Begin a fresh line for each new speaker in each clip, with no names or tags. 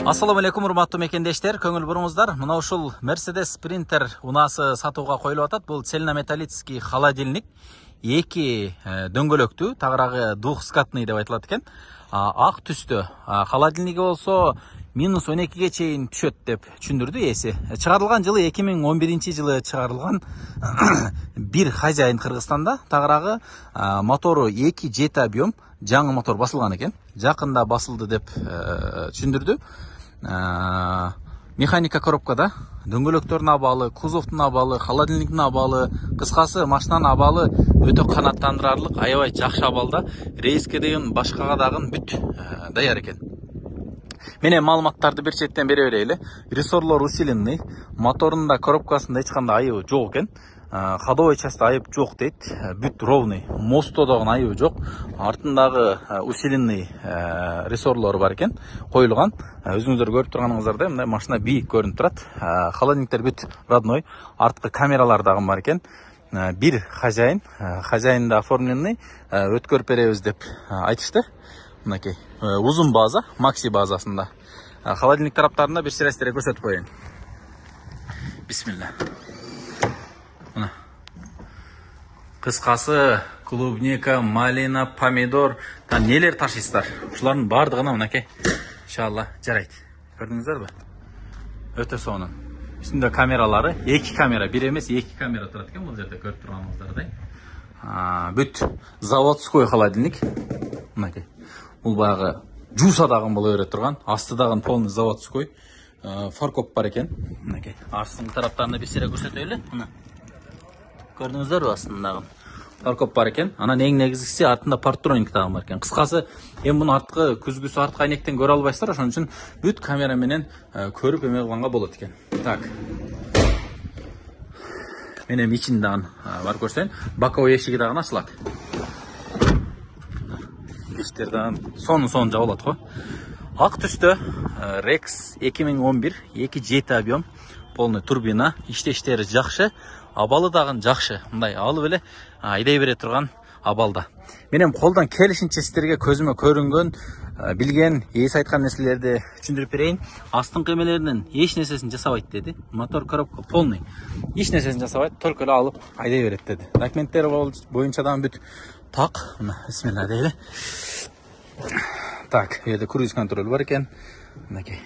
Assalamu alaikum урматтуу мекендештер, көңүл буруңуздар. Мына ушул Mercedes Sprinter унаасы сатууга коюлуп атат. Бул цельнометаллический холодильник. Эки дөңгөлөктүү, тагыраагы двухскатный деп айтылат экен. Ак түстө. Холодильниги болсо минус 12ге чейин түшөт деп түшүндүрдү ээси. Чыгарылган жылы 2011 жылы чыгарылган бир хозяин Кыргызстанда. Тагыраагы мотору 2 жети объем, жаңы мотор басылган экен. Жакында басылды деп түшүндүрдү. Механика коробкада, дөңгөлөктөрдүн абалы, кузовдун абалы, холодильниктин абалы, кыскасы машинанын абалы өтө канааттандырарлык, аябай жакшы абалда. Рейске деген башкага дагы бүт даяр экен. Менен маалыматтарды бир четтен бере берели. Рессорлор усиленный, моторунда, коробкасында эч кандай айыбы жок экен. Ходовой часть айып жок дейт, бүт ровный. Мостто дагы айыбы жок. Артындагы усиленный рессорлор бар экен, коюлган. Өзүңүздөр көрүп турганыңыздардай мындай машина бийик көрүнүп турат. Холодильниктер бүт родной. Арткы камералар дагы бар экен. Бир хозяин, хозяинда оформленный, өткөрүп беребиз деп айтышты. Мынакей узун база, макси базасында. Холодильник тараптарында бир сирестерге көрсөтүп коеюн. Бисмилла. Мына. Кыскасы клубника, малина, помидор, нелер ташыйсыздар. Ушулардын бардыгына мынакей. Иншалла жарайт. Көрдүңүздөрбү? Өтө сонун. Үстүндө камералары, 2 камера, бир эмес 2 камера турат экен бул жерде көрүп турганыңыздардай. Бүт заводской холодильник. Мынакей. Бул баягы жуусадагы боло бере турган, астыдагы полный заводской. Фаркоп бар экен. Мынакей. Астын тараптарында бир сире көрсөтөлү. Мына. Көрдүңүздөрбү астындагы? Фаркоп бар экен. Анан эң негизгиси артында партроник дагы бар экен. Кыскасы, эми муну арткы күзгүсү арткы айнектен көрө албайсыздар, ошон үчүн бүт камера менен көрүп эме кылганга болот экен. Так. Мен эми ичинде дагы бар көрсөйүн. Боковой эшиги дагы ачылат. Эшиктер дагы сонун жабылат го. Ак түстө Rex 2011, 2 жети объем, полный турбина, иштештери жакшы. Абалы дагы жакшы. Мындай алып эле айдай бере турган абалда. Мен эми колдон келишинче сиздерге көзүмө көрүнгөн, билген, ээси айткан нерселерди түшүндүрүп берейин. Астыңкы эмелеринин эч нерсесин жасабайт деди. Мотор коробка полный. Эч нерсесин жасабайт, только эле алып айдай берет деди. Документтер боюнча дагы бүт так. Мына бисмилла дейли. Так, bu yerda круиз контроль бар экен. Мынакей.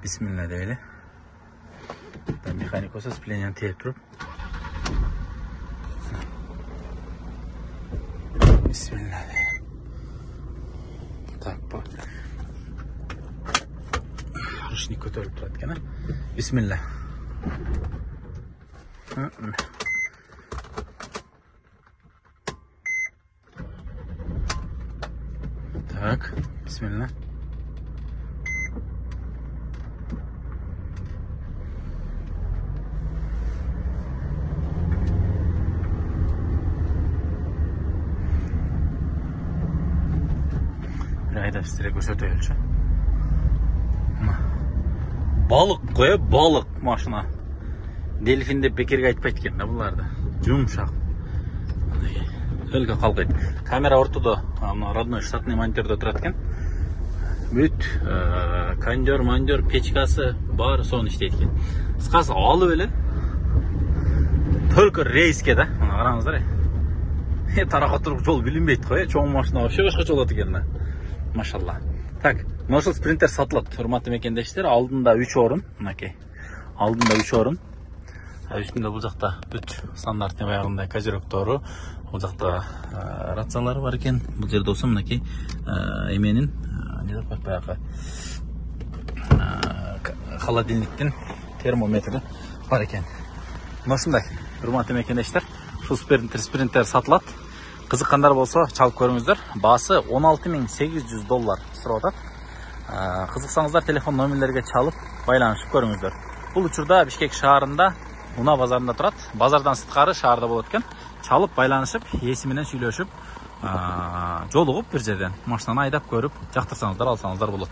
Бисмилла дейли. Механик болсо сцеплениени терип туруп. Бисмилла дейли. Так, бу. Ручник көтөрүлүп турат экен, Бисмилла. Так, бисмилла. Айда сиздерге көрсөтөйүнчү. Балык кое, балык машина. Дельфин деп бекерге айтпайт экен да буларды. Жумшак. Өлгө калбайт. Камера ортодо, родной штатный монитордо турат экен. Бүт кондер, мандер, печкасы бар, сонун иштейт экен. Кыскасы алып эле только рейске да. Мына караңыздар. Таракка туруп жол билинбейт го, чоң машина вообще башкача болот экен. Машалла. Так, ошол спринтер сатылат. Урматтуу мекендештер, алдында 3 орун, мынакей. Алдында 3 орун. Үстүндө бул жакта бүт стандартный баягындай козероктору, бул жакта рациялары бар экен. Бул жерде болсо мынакей эменин не деп коет баягы холодильниктин термометри бар экен. Мына ушундай. Урматтуу мекендештер, ушул спринтер сатылат. Кызыккандар болсо чалып көрүңүздөр. Баасы $16,800 сурап атат. Кызыксаңыздар телефон номерлерге чалып байланышып көрүңүздөр. Бул учурда Бишкек шаарында Уна базарында турат. Базардан сырткары шаарда болот экен. Чалып байланышып, ээси менен сүйлөшүп, жолугуп бир жерден машинаны айдап көрүп, жактырсаңыздар алсаңыздар болот.